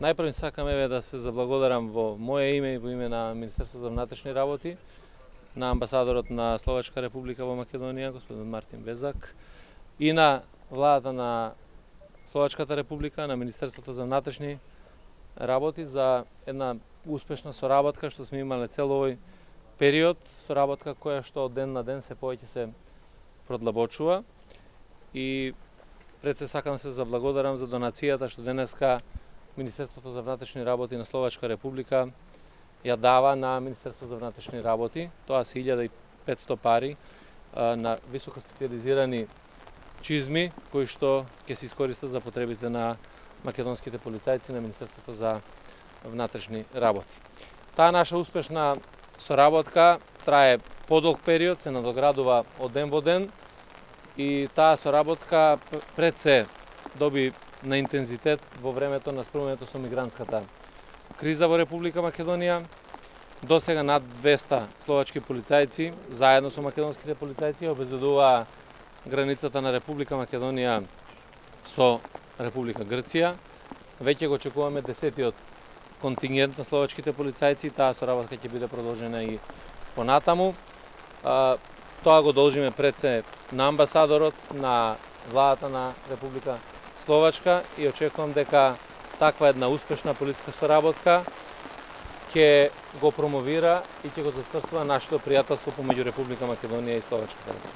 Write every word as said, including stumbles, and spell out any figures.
Најпрво сакам еве да се заблагодарам во моје име и во име на Министерството за внатрешни работи, на амбасадорот на Словачка република во Македонија, господин Мартин Безак, и на владата на Словачката република, на Министерството за внатрешни работи за една успешна соработка што сме имале цел овој период, соработка која што од ден на ден се повеќе се продлабочува. И пред се сакам се заблагодарам за донацијата што денеска Министерството за внатрешни работи на Словачка република ја дава на Министерството за внатрешни работи. Тоа се илјада и петстотини пари а, на високо специализирани чизми кои што ќе се искористат за потребите на македонските полицајци на Министерството за внатрешни работи. Таа наша успешна соработка трае подолг период, се надоградува од ден во ден и таа соработка пред се доби на интензитет во времето на спроведувањето со мигрантската криза во Република Македонија. До сега над двеста словачки полицајци, заедно со македонските полицајци, обезбедуваа границата на Република Македонија со Република Грција. Веќе го очекуваме десетиот контингент на словачките полицајци, таа соработка ќе биде продолжена и понатаму. Тоа го должиме пред се на амбасадорот, на владата на Република Словачка и очекувам дека таква една успешна полициска соработка ќе го промовира и ќе го зацрстува нашето пријателство помеѓу Република Македонија и Словачката.